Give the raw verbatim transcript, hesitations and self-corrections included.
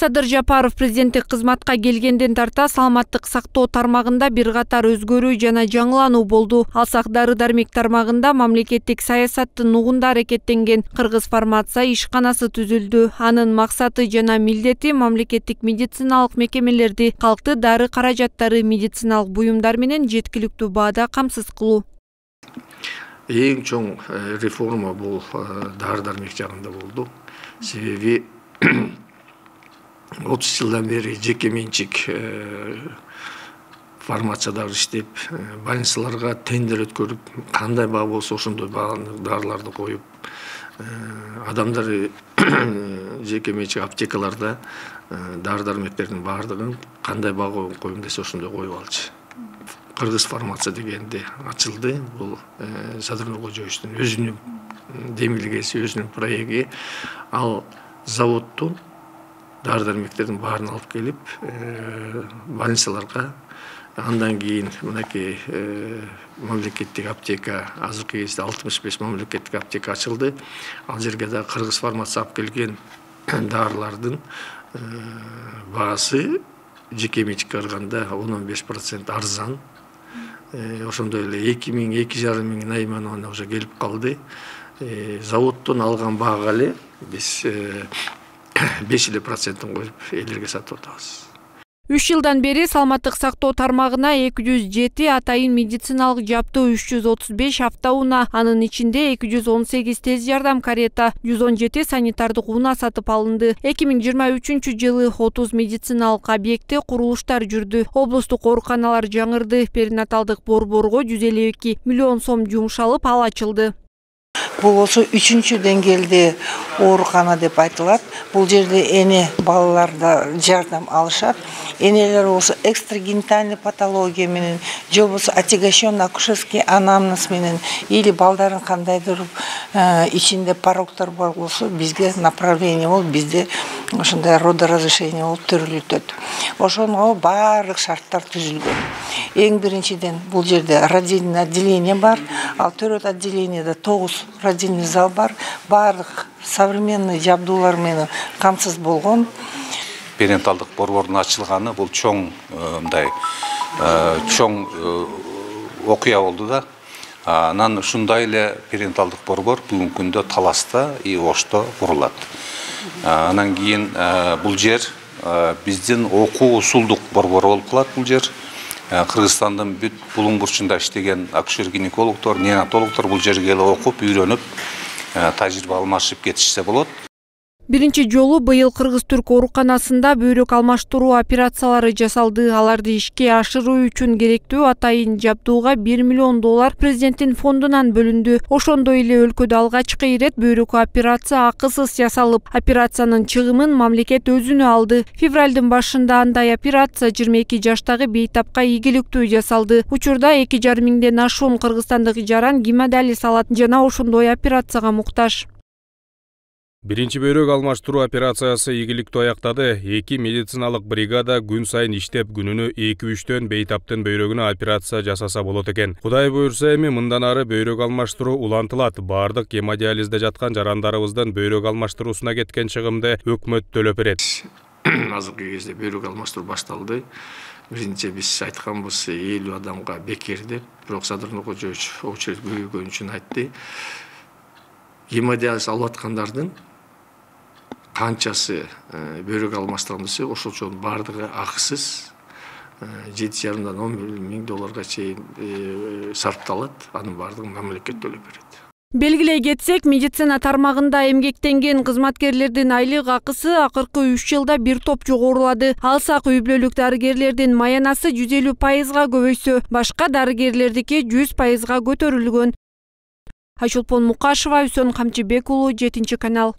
Садыр Жапаров президенттик кызматка келгенден тарта саламаттык сактоо тармагында бир катар өзгөрүү жана жаңылануу болду. Алсак дары-дармек тармагында мамлекеттик саясаттын нугунда аракеттенген Кыргыз фармация ишканасы түзүлдү. Анын максаты жана милдети мамлекеттик медициналык мекемелерди калкты дары каражаттары медициналык буюмдар менен жеткиликтүү баада камсыз кылуу. Эң чоң реформа бул дары-дармек жагында болду. Себеби отуз жылдан бери жеке менчик фармациялар иштеп, больницаларга тендер өткөрүп, кандай баа болсо ошондой дарыларды коюп, адамдар жеке менчик аптекаларда дары-дармектердин баардыгын кандай баа коюм десе ошондой коюп алчу. Кыргыз фармация дегенде ачылды. Бул Садыр Нуркожоевичтин өзүнүн демилгеси, өзүнүн проекти. Ал заводтун дары-дармектердин баарын алып келип, больницаларга, андан кийин мынакей мамлекеттик аптека, азыркы кезде алтымыш беш мамлекеттик аптека ачылды. Ал жерге да Кыргыз фармация алып келген дарылардын баасы жеке менчикке караганда он он беш процент арзан. Ошондой эле эки миң эки жарым миң наиманона уже келип калды. Заводдон алган баага эле биз беш эле процентин коюп элерге сатып атабыз. үч жылдан бери саламаттык сактоо тармагына эки жүз жети атайын медициналык жабдуу, үч жүз отуз беш автоунаа, анын ичинде эки жүз он сегиз тез жардам карета, жүз он жети санитардык унаа сатып алынды. эки миң жыйырма үчүнчү жылы отуз медициналык объектте курулуштар жүрдү. Облустук ооруканалар жаңырды. Перинаталдык борборго жүз элүү эки миллион сом жумшалып, ал ачылды. Бул болсо үчүнчү деңгээлде оорукана деп айтылат. Бул жерде эне балаларда жардам алышат. Энелер болсо экстрагенитальный патология менен, же болбосо отягощенный акушерский анамнез менен, или балдарын кандайдыр ичинде порогдор бар болсо бизге направление болуп, бизде ошондой родоразрешение болуп төрүлүтөт. Ошонго баардык шарттар түзүлгөн. Эң биринчиден бул жерде родильный отделение бар, ал төрөт отделениеде тогуз родильный зал бар, баардык современный жабдуулар менен камсыз болгон. Перинаталдык борбордун ачылганы бул чоң мындай чоң окуя болду да. Анан ушундай эле перинаталдык борбор бүгүнкү күндө Таласта и Ошто курулат. Анан кийин бул жер биздин окуу усулдук борбору болуп калат. Бул жер Кыргызстандын бүт булуң бурчунда иштеген акушер-гинекологдор, неонатологдор бул жерге эле окуп, үйрөнүп, тажрыйба алмашып кетишсе болот. Биринчи жолу быйыл Кыргыз-Түрк ооруканасында бөйрөк алмаштыруу операциялары жасалды. Аларды ишке ашыруу үчүн керектүү атайын жабдууга бир миллион доллар президенттин фондунан бөлүндү. Ошондой эле өлкөдө алгачкы ирет бөйрөк операция акысыз жасалып, операциянын чыгымын мамлекет өзүнө алды. Февралдын башында андай операция жыйырма эки жаштагы бейтапка ийгиликтүү жасалды. Учурда эки жарым миңден ашуун кыргызстандык жаран гемодиализ алат жана ошондой операцияга муктаж. Биринчи бөйрөк алмаштыруу операциясы ийгиликтүү аяктады. Эки медициналык бригада күн сайын иштеп, күнүнө эки үчтөн бейтаптын бөйрөгүнө операция жасаса болот экен. Кудай буйрса эми мындан ары бөйрөк алмаштыруу улантылат. Бардык гемодиализде жаткан жарандарыбыздын бөйрөк алмаштыруусуна кеткен чыгымды өкмөт төлөп берет. Азыркы кезде бөйрөк алмаштыруу башталды. Биринчи биз айтканбыз элүү адамга бекер деп, бирок Садыр Нуркожоевич очередь көбөйгөн үчүн айтты. Гемодиализ алып аткандардын канчасы бөйрөк алмаштырган десе, ошолчонун баардыгы акысыз, жети жарымдан он миң долларга чейин сарпталат. Анын баардыгын мамлекет төлөп берет. Белгилей кетсек, медицина тармагында эмгектенген кызматкерлердин айлык акысы акыркы үч жылда бир топ жогорулады. Алсак үй бүлөлүк дарыгерлердин маянасы жүз элүү пайызга көбөйсө, башка дарыгерлердики жүз пайызга көтөрүлгөн. Айшолпон Мукашева, Үсөн Камчыбек уулу, жетинчи канал.